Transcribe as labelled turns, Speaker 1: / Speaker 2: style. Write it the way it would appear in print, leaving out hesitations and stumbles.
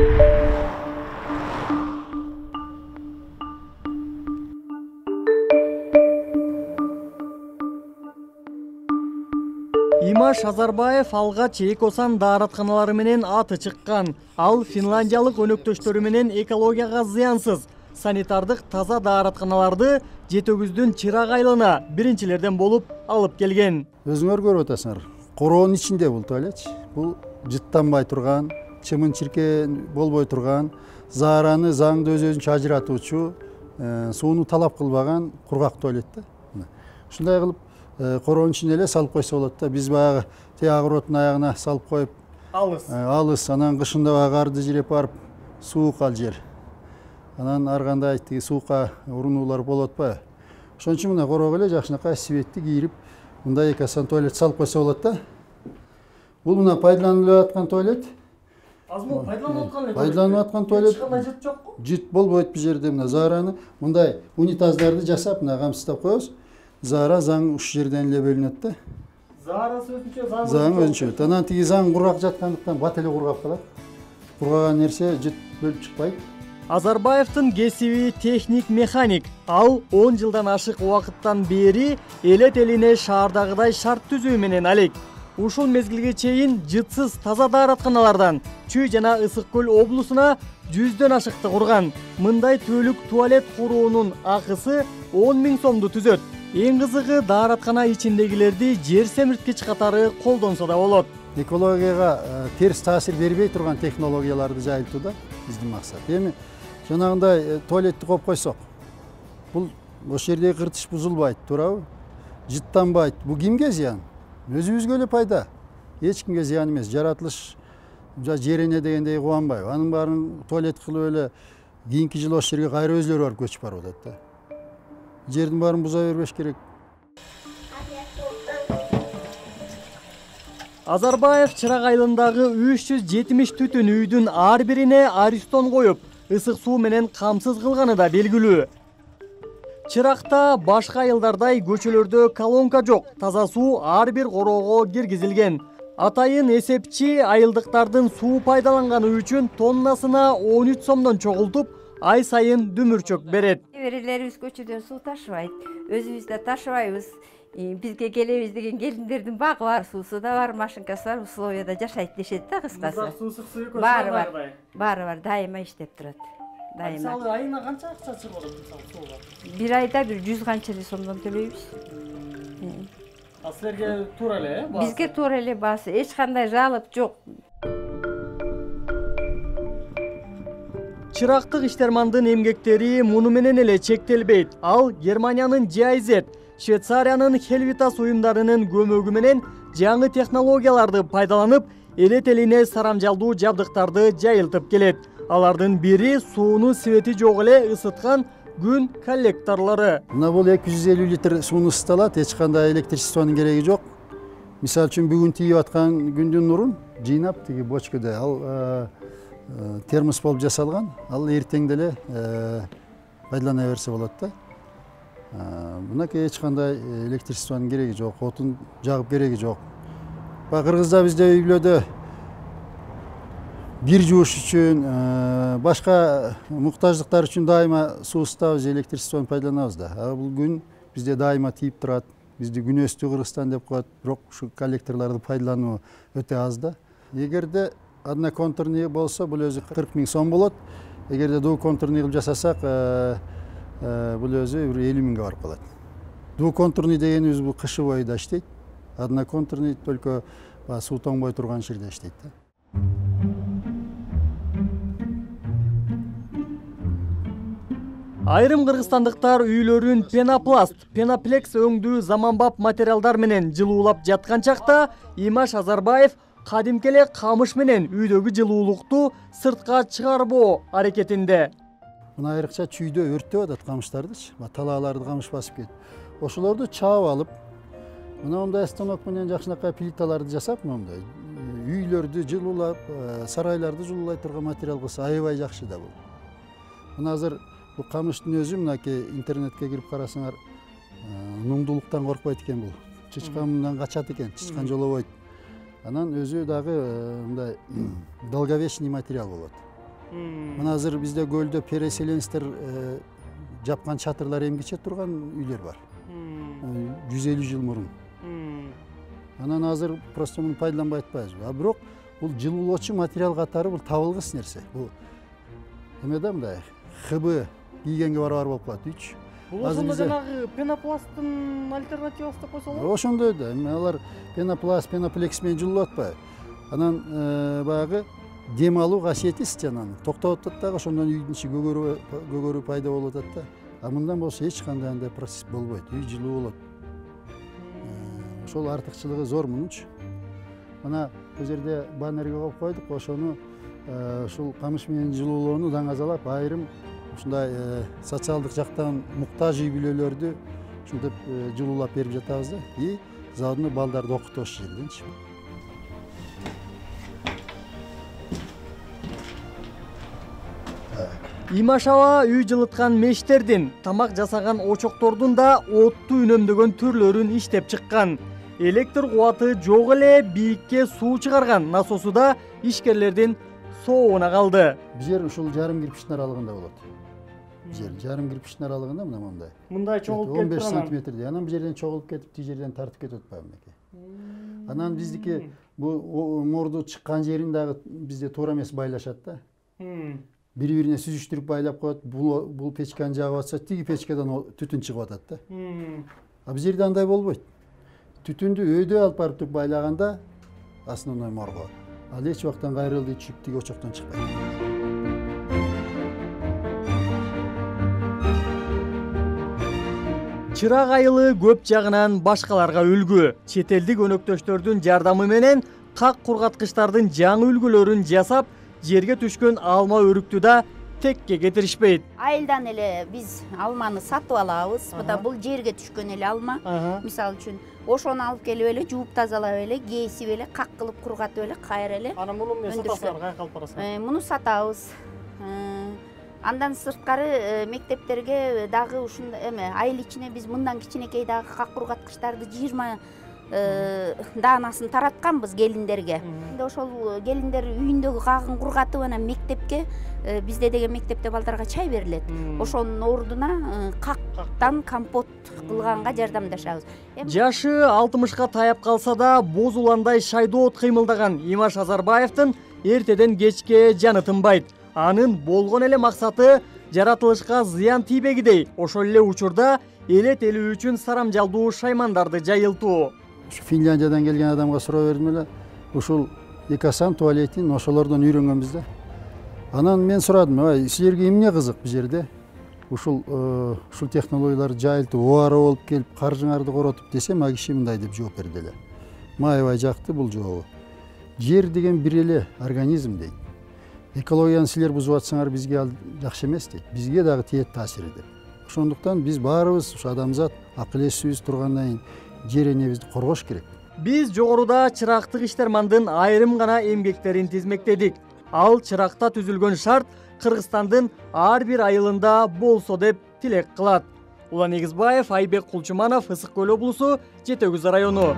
Speaker 1: Имаш Азарбаев алгач Экосан дааратканалары менен аты чыккан. Ал финляндиялык өнөктөштөрү менен экологияга зыянсыз санитардык таза дааратканаларды Жетөгүздүн чырак айылына биринчилерден болуп алып келген.
Speaker 2: Өзүңөр көрүп атасыңар. Короонун ичинде бул туалет. Бул жыттанбай турган, чымын-чиркен болбой турган, заараны заңды өзүнчө ажыратуучу, сууну талап кылбаган кургак туалет да. Ушундай кылып короонун ичине эле салып койсо болот да. Биз баягы огороддун аягына салып коюп, алыс, анан кышында баягы карды жиреп барып, суук ал жер. Анан ар кандай тиги суукка урунуулар болуп атпайбы? Ошон үчүн мына короого эле жакшынакай светти кийирип, мындай Экосан туалет салып койсо болот да. Бул мына пайдаланылып аткан туалет.
Speaker 1: Азмол пайдаланып аткан эле.
Speaker 2: Пайдаланып аткан туалет.
Speaker 1: Эч кандай жыт жокпу?
Speaker 2: Жыт болбойт бул жерде. Мына заараны мындай унитаздарды жасап, мына камсыздап коебуз. Заара заң ушул жерден эле бөлүнөт да.
Speaker 1: Заарасы өзүнчө,
Speaker 2: заң өзүнчө. Анан тиги заң кургак жаткандыктан бат эле кургап калат. Кургаган нерсе жыт бөлүп чыкпайт.
Speaker 1: Азарбаевдин кесиби техник механик. Ал 10 жылдан ашык убакыттан бери элет элине шаардагыдай шарт түзүү менен алек. Ушул мезгилге чейин жытсыз таза дааратканалардан Чүй жана Ысык көл облусуна 100дөн ашыкты курган. Мындай түбөлүк туалет куруунун акысы 10 000 сомду түзөт. Эң кызыгы даараткана ичиндегилерди жер семирткич катары колдонсо да болот.
Speaker 2: Экологияга терс таасир бербей турган технологияларды жайылтуу да биздин максат. Эми жанагындай туалетти коюп койсок, бул ошол жердеги кыртыш бузулбайт, туурабы? Жыттанбайт. Бул кимге зыян? Өзүбүзгө эле пайда. Эч кимге зыян эмес. Жаратылыш жерине дегендей кубанбайбы? Анын баарын туалет кылып эле кийинки жылы ошол жерге кайра өзүлөрү барып көчүп барып атат да. Жердин баарын буза бербеш керек.
Speaker 1: Азарбаев чырак айылындагы 370 түтүн үйдүн ар бирине аристон коюп, ысык суу менен камсыз кылганы да белгилүү. Чыракта башка айылдардай көчөлөрдө колонка жок, таза суу ар бир короого киргизилген. Атайын эсепчи айылдыктардын суу пайдаланганы үчүн тоннасына 13 сомдон чогултуп, ай сайын дүмүрчөк берет.
Speaker 3: Неберелерибиз көчөдөн суу ташыбайт, өзүбүз да ташыбайбыз. Бизге келебиз деген келиндердин багы бар, суусу да бар, машинкасы бар, условияда жашайт дешет да кыскасы.
Speaker 1: Суу суу экөө
Speaker 3: баары бар, дайыма иштеп турат. Дайыма.
Speaker 1: Мисалы айына канча акча чыгып атат мисалы сууга?
Speaker 3: Бир айда бир 100 канча сомдон төлөйбүз.
Speaker 1: А силерге туура эле, баасы?
Speaker 3: Бизге туура эле баасы, эч кандай жалоп жок.
Speaker 1: Чырактык иштермандын эмгектери муну менен эле чектелбейт. Ал Германиянын GIZ, Швейцариянын Helvitas уюмдарынын көмөгү менен жаңы технологияларды пайдаланып, элет элине сарамжалдуу жабдыктарды жайылтып келет. Алардын бири сууну свети жок эле ысыткан күн коллекторлору.
Speaker 2: Мына бул 250 литр сууну ысыталат, эч кандай электричествонун кереги жок. Мисалы үчүн бүгүн тийип аткан күндүн нурун жыйнап тиги бочкада ал термос болуп жасалган. Ал эртең деле пайдалана берсе болот да. Мынакей эч кандай электричествонун кереги жок, отун жагып кереги жок. Кыргызда бизде үй бүлөдө кир жууш үчүн, башка муктаждыктар үчүн дайыма суу ысытабыз, электричествон пайдаланабыз да. Бул күн бизде дайыма тийип турат. Бизди күнөстүү Кыргызстан деп коет, бирок ушу коллекторлорду пайдалануу өтө аз да. Эгерде одноконтурный болсо, бул өзү 40 000 сом болот. Эгерде двухконтурный кылып жасасак, бул өзү 50 000 барып калат. Двухконтурный дегенибиз бул кышы бою да иштейт. Одноконтурный только суу тоңбой турган жерде иштейт да.
Speaker 1: Айрым кыргызстандыктар үйлөрүн пенопласт, пеноплекс өңдүү заманбап материалдар менен жылуулап жаткан чакта Имаш Азарбаев кадимки эле камыш менен үйдөгү жылуулукту сыртка чыгарбоо аракетинде.
Speaker 2: Мына айрыкча чүйдө өрттөп атат камыштардычы, талааларды камыш басып кетип. Ошолорду чаап алып, мына мындай станок менен жакшынакай плиталарды жасап, мындай үйлөрдү жылуулап, сарайларды жылуулай турган материал кылса аябай жакшы да бул. Мына азыр бул камыштын өзү мынакей интернетке кирип карасаңар, нуңдуулуктан коркпойт экен бул. Чычкан мындан качат экен, чычкан жолобойт. Анан өзү дагы мындай долговечный материал болот. Мына азыр бизде көлдө переселенецтер жапкан чатырлар эмгиче турган үйлөр бар. 150 жыл мурун. Анан азыр просто муну пайдаланбай атпайбызбы. А бирок бул жылуулоочу материал катары бул табылгыс нерсе. Бул эме да мындай ХБ кийгенге барабар болуп калат 3.
Speaker 1: Бул ошондо жанагы пенопласттын альтернативасы деп койсо болот.
Speaker 2: Ошондой да. Эми алар пенопласт, пеноплекс менен жылуулап атпайбы. Анан баягы дем алуу касиети жанагы токтоп атат дагы, ошондон үйдүн ичи көгөрүү пайда болуп атат да. А мындан болсо эч кандай андай процесс болбойт. Үй жылуу болот. Ошол артыкчылыгы зор мунунчу. Мына бул жерде баннерге коюп койдук, ошону ушул камыш менен жылуулоону даңазалап, айрым ушундай социалдык жактан муктаж үй бүлөлөрдү ушинтип жылуулап берип жатабыз да. И заодно балдарды окутуш жерденчи.
Speaker 1: Имаш аба үй жылыткан мештердин, тамак жасаган очоктордун да отту үнөмдөгөн түрлөрүн иштеп чыккан. Электр кубаты жок эле бийикке суу чыгарган насосу да ишкерлердин соогуна калды.
Speaker 2: Бул жер ушул жарым кирпичтин аралыгында болот. Жер жарым кирпичтин аралыгында мына мындай.
Speaker 1: Мындай чогулуп кетип
Speaker 2: 15 сантиметрдей. Анан бул жерден чогулуп кетип, тиги жерден тартып кетип атпайбы мынакей. Анан биздики бул морду чыккан жерин дагы бизде туура эмес байлашат да. Бири-бирине сүзүштүрүп байлап коет. Бул печканы жагып атса, тиги печкадан түтүн чыгып атат да. А бул жерде андай болбойт. Түтүндү өйдө алып барып туруп байлаганда основной морго. Ал эч убактан кайрылды чүп тиги очоктон чыкпайт.
Speaker 1: Чырак айылы көп жагынан башкаларга үлгү. Чет элдик өнөктөштөрдүн жардамы менен как кургаткычтардын жаңы үлгүлөрүн жасап, жерге түшкөн алма өрүктү да текке кетиришпейт.
Speaker 4: Айылдан эле биз алманы сатып алабыз. Мына бул жерге түшкөн эле алма. Мисалы үчүн ошону алып келип эле жууп тазалап эле, кесип эле, как кылып кургатып эле, кайра эле.
Speaker 1: Анан муну эмне сатасыңар, каяка алып барасыңар?
Speaker 4: Муну сатабыз. Андан сырткары мектептерге дагы ушундай эме айыл ичине биз мындан кичинекей дагы как кургаткычтарды 20 даанасын таратканбыз келиндерге. Ошол келиндер үйүндөгү кагын кургатып анан мектепке, бизде деген мектепте балдарга чай берилет. Ошонун ордуна кактан компот кылганга жардамдашабыз.
Speaker 1: Жашы 60ка таяп калса да боз уландай шайдоот кыймылдаган Имаш Азарбаевдин эртеден кечке жаны тынбайт. Анын болгон эле максаты жаратылышка зыян тийбегидей, ошол эле учурда элет элүү үчүн сарамжалдуу шаймандарды жайылтуу.
Speaker 2: Финляндиядан келген адамга суроо бердим эле, ушул экасан туалетин ошолордон үйрөнгөнбүз да. Анан мен сурадым, силерге эмне кызык бул жерде? Ушул технологияларды жайылтып, убара болуп келип, каржыңарды коротуп десем, а киши мындай деп жооп берди эле. Маябай жакты бул жообу. Жер деген бир эле организм дейт. Экологияны силер бузуп атсаңар бизге ал жакшы эмес дейт. Бизге дагы тиет таасири деп. Ошондуктан биз баарыбыз ушу адамзат акыл эсибиз тургандан кийин жер энебизди коргош керек.
Speaker 1: Биз жогоруда чырактык иштермандын айрым гана эмгектерин тизмектедик. Ал чыракта түзүлгөн шарт Кыргызстандын ар бир айылында болсо деп тилек кылат. Улан Эгизбаев, Айбек Кулчуманов, Ысык Көл облусу, Жети Өгүз району.